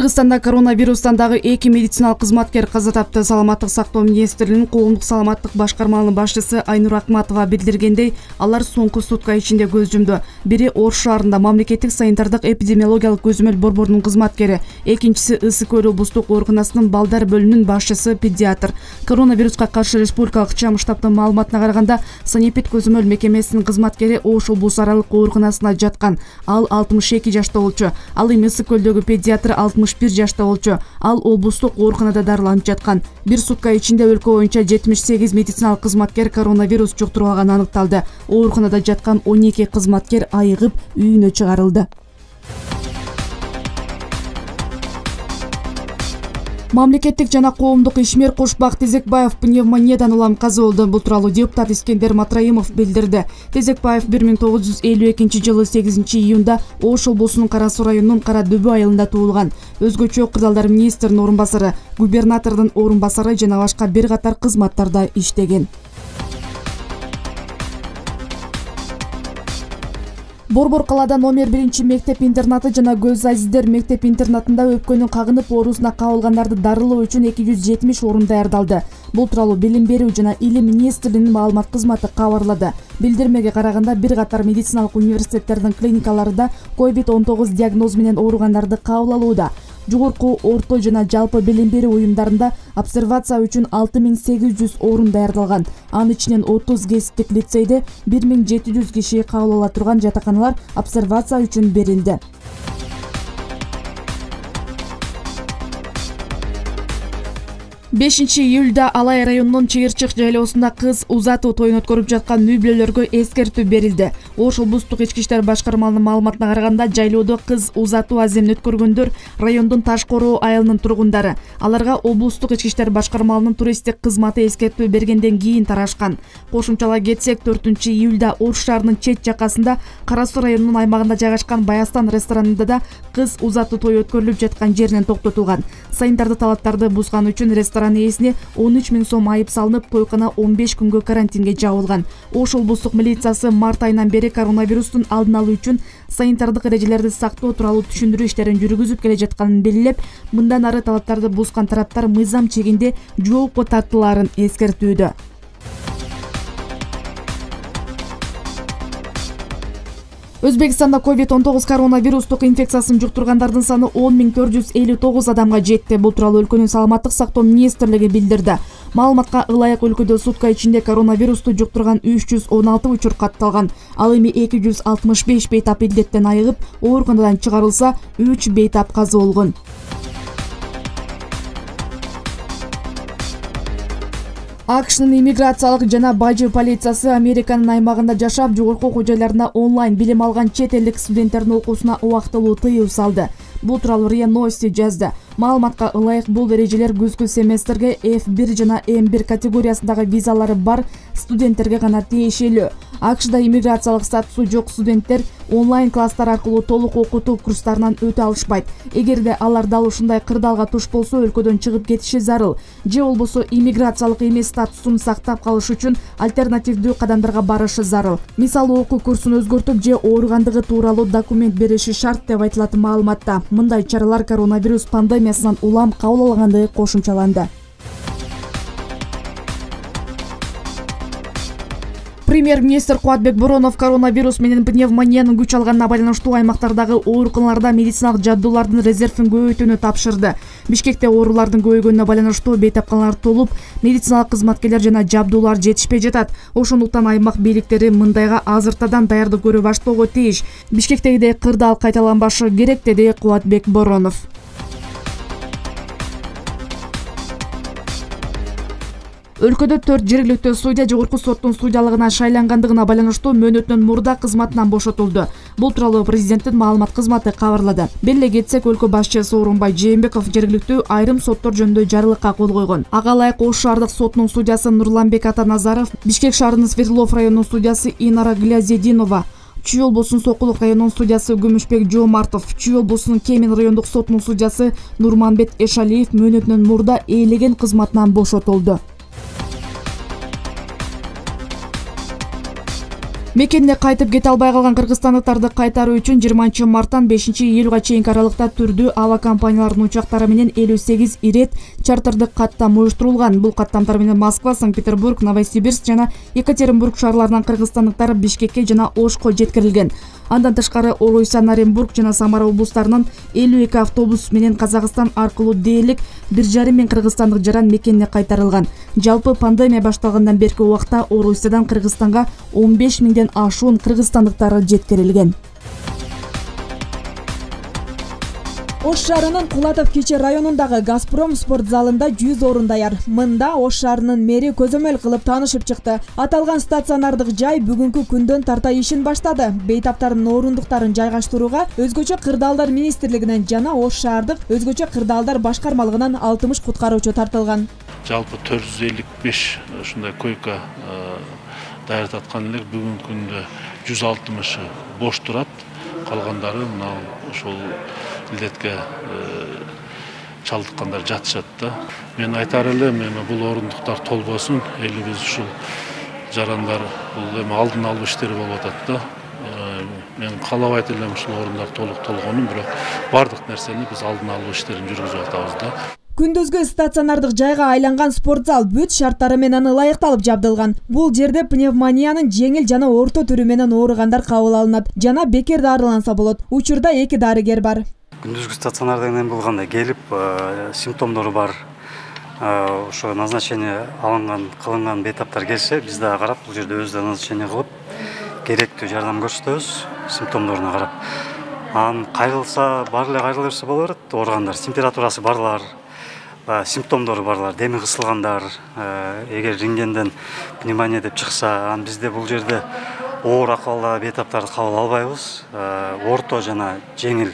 Кыргызстанда коронавирустан дагы 2 медициналык кызматкер каза тапты. Саламаттык сактоо министрлигинин коомдук саламаттык башкармалынын башчысы Айнур Акматова билдиргендей, алар соңку сутка ичинде көз жумду. Бири Ош шаарында мамлекеттик санитардык эпидемиологиялык көзөмөл борборунун кызматкери, экинчиси Ысык Көл облустук ооруканасынын балдар бөлүмүнүн башчысы педиатр. Коронавируска каршы республикалык чам штабтын маалыматына караганда, санэпид көзөмөл мекемесинин кызматкери Ош облус аралык ооруканасына жаткан. Ал 62 жашта болчу. Ал эми Ысык Көлдөгү педиатр 61 жашта болчу. Ал облустук ооруканада дарыланып жаткан. Бир сутка ичинде өлкө боюнча 78 медициналык кызматкер коронавирус жуктуруп алганы аныкталды. Ооруканада жаткан 12 кызматкер айыгып үйүнө чыгарылды. Мамлекеттик жана коомдук ишмер Кушбак Тезекбаев пневмониядан улам каза болду. Бул тууралуу депутат Искендер Матраимов билдирди. Тезекбаев 1952 жылы 8 июнда Ош облусунун Кара Суу районунун Кара Дөбө айылында туулган. Өзгөчө кырдаалдар министринин орун басары, губернатордун орун басары жана башка бир катар кызматтарда иштеген. Борбор калаада номер 1 мектеп-интернаты жана Көз Азиздер мектеп-интернатында өпкөнүн кагынып оорусуна кабылгандарды дарылоо үчүн 270 орун даярдалды. Бул тууралуу Билим берүү жана Илим министрлигинин маалымат кызматы кабарлады. Билдирмеге караганда, бир катар медициналык университеттердин клиникаларында COVID-19 диагнозу менен ооругандарды кабыл алууда. Жогорку, орто жана жалпы билим берүү уюмдарында обсервация үчүн 6800 орун даярдалган. Анын ичинен 30 кесиптик лицейде 1700 киши кабыл ала турган жатаканалар обсервация үчүн берилди. 5 июлда Алай районунун Чыгырчык жайлоосунда кыз узатуу тоюн өткөрүп жаткан үй бүлөлөргө эскертүү берилди. Ош облустук ички иштер башкармалынын маалыматына караганда, жайлоодо кыз узатуу аземин өткөргөндөр райондун Ташкороо айылынын тургундары. Аларга облустук ички иштер башкармалынын туристтик кызматы эскертүү бергенден кийин тарашкан. Кошумчалай кетсек, 4 июлда Ош шаарынын чет жакасында Кара Суу районунун аймагында жайгашкан Баястан ресторанында да кыз узатуу тою өткөрүлүп жаткан жеринен токтотулган. Санитардык талаптарды бузган үчүн ресторан ээсине 13 000 сом айып салынып, тойкана 15 күнгө карантинге жабылган. Ош облустук милициясы март айынан бери коронавирустун алдын алуу үчүн санитардык эрежелерди сактоо тууралуу түшүндүрүү иштерин жүргүзүп келе жатканын белгилеп, мындан ары талаптарды бузган тараптар мыйзам чегинде жоопко тартылаарын эскертүүдө. Өзбекстанда COVID-19 коронавирустук инфекциясын жуктургандардын саны 10 459 адамга жетти. Бул тууралуу өлкөнүн саламаттык сактоо министрлиги билдирди. Маалыматка ылайык өлкөдө сутка ичинде коронавирусту жуктурган 316 учур катталган. Ал эми 265 бейтап илдеттен айыгып, ооруканадан чыгарылса, 3 бейтап каза болгон. АКШнын иммиграциялык жана бажы полициясы Американын аймагында жашап, жогорку окуу жайларында онлайн билим алган чет элдик студенттердин окуусуна убактылуу тыюу салды. Бул тууралуу РИА Новости жазды. Маалыматка ылайык бул эрежелер күзгү семестрге F1 жана M1 категориясындагы визалары бар студенттерге гана тиешелүү. АКШда иммиграциялык статусу жок студенттер онлайн класстар аркылуу толук окутуу курстарынан өтө алышпайт. Эгерде алар дал ушундай кырдаалга туш болсо, өлкөдөн чыгып кетиши зарыл. Же болбосо иммиграциялык эмес статусун сактап калыш үчүн альтернативдүү кадамдарга барышы зарыл. Мисалы, окуу курсун өзгөртүп же ооругандыгы тууралуу документ бериши шарт деп айтылат маалыматта. Мындай чаралар коронавирус пандемиясынан улам кабыл алгандыгы кошумчаланды. Премьер-министр Кубатбек Боронов коронавирус менен пневмониянын күч алганына байланыштуу аймактардагы ооруканаларда медициналык жабдуулардын резервин көбөйтүүнү тапшырды. Бишкекте оорулардын көбөйгөнүнө байланыштуу бейтапканалар толуп, медициналык кызматкерлер жана жабдуулар жетишпей жатат. Ошондуктан аймак бийликтери мындайга азыртадан даярдык көрө баштоого тийиш. Бишкектегидей кырдаал кайталанбашы керек, деди Кубатбек Боронов. Өлкөдө 4 жергиликтүү судья жогорку соттун судьялыгына шайлангандыгына байланыштуу мөөнөтүнөн мурда кызматынан бошотулду. Бул тууралуу президенттин маалымат кызматы кабарлады. Беле кетсек, өлкө башчысы Орунбай Жээнбеков жергиликтүү айрым соттор жөнүндө жарлыкка кол койгон. Ага ылайык Ош шаардык сотунун судьясы Нурланбек Атаназаров, Бишкек шаарынын Свердлов районунун судьясы Инара Глязединова, Чүй облусунун Сокулук районунун судьясы Күмүшбек Жоомартов, Чүй облусунун Кемин райондук сотунун судьясы Нурманбет Эшалиев мөөнөтүнөн мурда ээлеген кызматынан бошотулду. Мекенине кайтып кете албай калган кыргызстандыктарды кайтаруу үчүн 20 марттан 5 июлга чейинки аралыкта түрдүү аба компанияларынын учактары менен 58 ирет чартердик каттам уюштурулган. Бул каттамдар менен Москва, Санкт-Петербург, Новосибирск жана Екатеринбург шаарларынан кыргызстандыктар Бишкекке жана Ошко жеткирилген. Андан тышкары Орусия, Оренбург жана Самара облустарынан 52 автобус менен Казакстан аркылуу дээрлик 1,5 миң кыргызстандык жаран мекенине кайтарылган. Жалпы пандемия башталгандан берки убакта Орусиядан Кыргызстанга 15 миңден ашуун кыргызстандыктары жеткирилген. Ош шаарынын Кулатов Кичи районундагы Газпром спорт залында 100 орун даяр. Мында Ош шаарынын мэри көзөмөл кылып таанышып чыкты. Аталган стационардык жай бүгүнкү күндөн тарта ишин баштады. Бейтаптардын орындуктарын жайгаштырууга Өзгөчө кырдаалдар министрлигинен жана Ош шаардык Өзгөчө кырдаалдар башкармалыгынан 60 куткаруучу тартылган. Жалпы 455 ушундай койка даярдаткан элек, бүгүнкү күндө 160 бош турат. Калгандары мына ошол илдетке чалдыккандар жатышат да. Мен айтар элем, бул орундуктар толбосун, элибиз ушул жарандар бул эми алдын алуу иштери болуп атат да. Мен каалабайт элем ушул орундар толук толгонун, бирок бардык нерсени биз алдын алуу иштерин жүргүзүп атабыз да. Күндүзгү стационардык жайга айланган спорт зал бүт шарттары менен ылайыкталып жабдылган. Бул жерде пневмониянын жеңил жана орто түрү менен ооругандар кабыл алынат жана бекер дарыланса болот. Учурда 2 дарыгер бар. Күндүзгү стационардан эми болгондо келип, симптомдору бар, ошо назначение кылынган бейтаптар келсе, биз дагы карап, бул жерде өзү назначение кылып, керектүү жардам көрсөтөбүз, симптомдоруна карап. Анан кайрылса, баары эле кайрыла берсе боло берет, ооругандар, температурасы барлар, симптомдору барлар, деми кысылгандар, эгер рентгенден пневмония деп чыкса, анан бизде бул жерде оор акыбалдагы бейтаптарды кабыл албайбыз, орто жана жеңил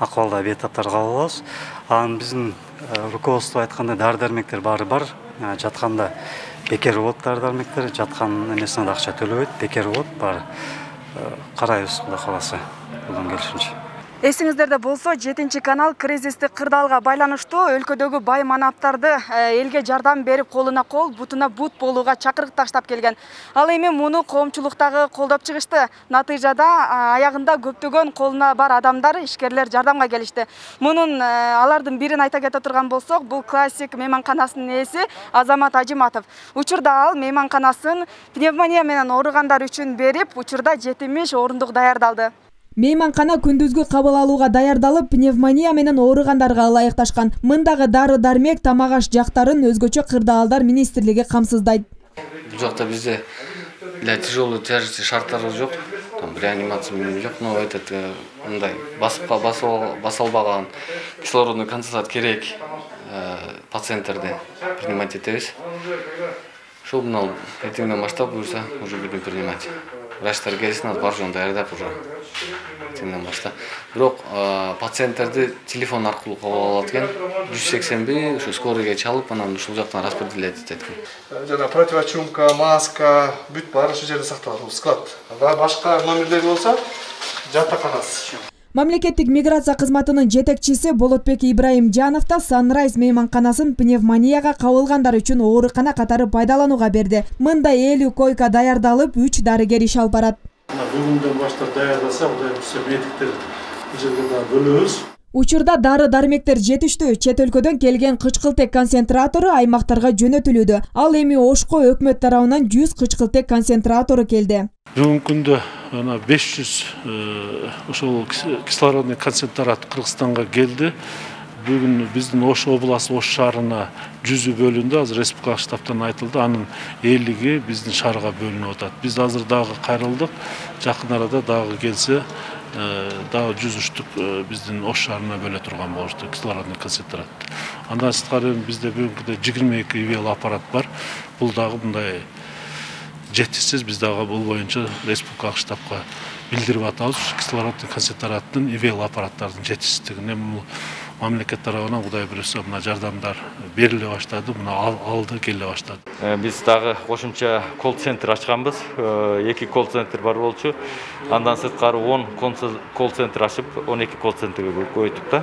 акыбалдагы бейтаптарды кабыл алабыз. Анан биздин руководство айткандай дары-дармектер баары бар, жатканда бекер болот дары-дармектер, жаткан эмесине да акча төлөбөйт, бекер болот баары. Карайбыз, Кудай кааласа, колдон келишинче. Эсиңиздерде болсо, 7-канал кризистик кырдаалга байланыштуу өлкөдөгү бай манаптарды элге жардам берип, колуна кол, бутуна бут болууга чакырык таштап келген. Ал эми муну коомчулуктагы колдоп чыгышты. Натыйжада аягында көптөгөн колуна бар адамдар, ишкерлер жардамга келишти. Мунун алардын бирин айта кете турган болсок, бул классик мейманканасынын ээси Азамат Ажиматов. Учурда ал мейманканасын пневмония менен ооругандар үчүн берип, учурда 70 орундук даярдалды. Мейманкана күндүзгү кабыл алууга даярдалып, пневмония менен ооругандарга ылайыкташкан. Мындагы дары-дармек, тамак-аш жактарын Өзгөчө кырдаалдар министрлиги камсыздайт. Бул жакта бизде для тяжелый тяжести шарттары жок, реанимация жок, но этот мындай баса албаган кислородный концентрат керек пациенттерде принимать этебиз. Ошол мына эртеңден баштап буюрса уже будем принимать. Врачтар келсин, бар жоон даярдап уже эртеңден баштап. Бирок пациенттерди телефон аркылуу кабыл алат экен. 181 ошо скорыйга чалып, анан ушул жактан распределять этет экен. Жана противочумка, маска, бүт баары ушул жерде сакталат, бул склад. Башка номерлер болсо жатаканасы. Мамлекеттик миграция кызматынын жетекчиси Болотбек Ибраимжанов да Sunrise мейманканасын пневмонияга кабылгандар үчүн оорукана катары пайдаланууга берди. Мында 50 койка даярдалып, 3 дарыгер иш алып барат. Бүгүндөн баштап даярдаса, все медиктер бул жерде бөлөбүз. Учурда дары-дармектер жетиштүү. Чет өлкөдөн келген кычкылтек концентратору аймактарга жөнөтүлүүдө. Ал эми Ошко өкмөт тарабынан 100 кычкылтек концентратору келди. Бүгүнкү күндө 500 ошол кислородный концентрат Кыргызстанга келди. Бүгүн биздин Ош областы, Ош шаарына 100 бөлүндү. Азыр республикалык штабтан айтылды, анын 50 биздин шаарга бөлүнүп атат. Биз азыр дагы кайрылдык. Жакын арада дагы келсе, дагы 100 штук биздин Ош шаарына бөлө турган болушту кислородный концентрат. Андан сырткары бизде бүгүнкүдө 22 ИВЛ аппарат бар. Бул дагы мындай жетишсиз, биз дагы бул боюнча республикалык штабка билдирип атабыз. Кислородный концентраттын ИВЛ аппараттардын жетишсиздигин мамлекет тарабынан Кудай буюрса мына жардамдар бериле баштады, мына алды келе баштады. Биз дагы кошумча колл-центр ачканбыз. 2 колл-центр бар болчу. Андан сырткары 10 колл-центр ачып, 12 колл-центрге көбөйттүк да.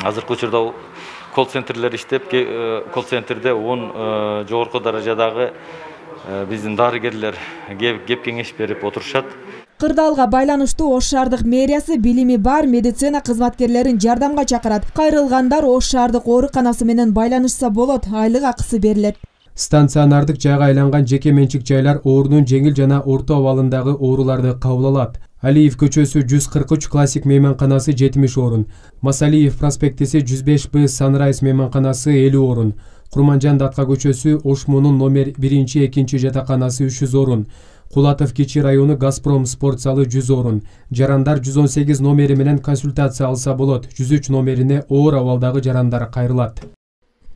Азыркы учурда колл-центрлер иштеп, колл-центрде 10 жогорку даражадагы биздин дарыгерлер кеп кеңеш берип отурушат. Кырдаалга байланыштуу Ош шаардык мэриясы билими бар медицина кызматкерлерин жардамга чакырат. Кайрылгандар Ош шаардык ооруканасы менен байланышса болот, айлык акысы берилет. Стационардык жайга айланган жеке менчик жайлар оорунун жеңил жана орто абалындагы ооруларды кабыл алат. Алиев көчөсү 143 классик мейманканасы 70 орун, Масалиев проспектиси 105Б Sunrise мейманканасы 50 орун, Курманжан Датка көчөсү Ошмунун номер 1-2 жатаканасы 300 орун, Кулатов Кичи району Газпром спорт залы 100 орун, Жарандар 118 номери менен консультация алса болот, 103 номерине оор абалдагы жарандар кайрылат.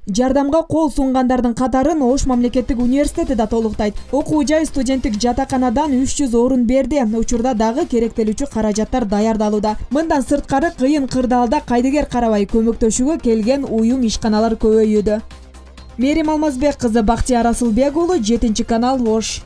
Жардамга кол сунгандардын катарын Ош мамлекеттик университети да толуктайт. Окуу жай студенттик жатаканадан 300 орун берди. Учурда дагы керектелүүчү каражаттар даярдалууда. Мындан сырткары кыйын кырдаалда кайдыгер карабай көмөктөшүүгө келген уюм ишканалар көбөйүүдө. Мерим Алмазбек кызы, Бактияр Асылбек уулу, 7 канал, Ош.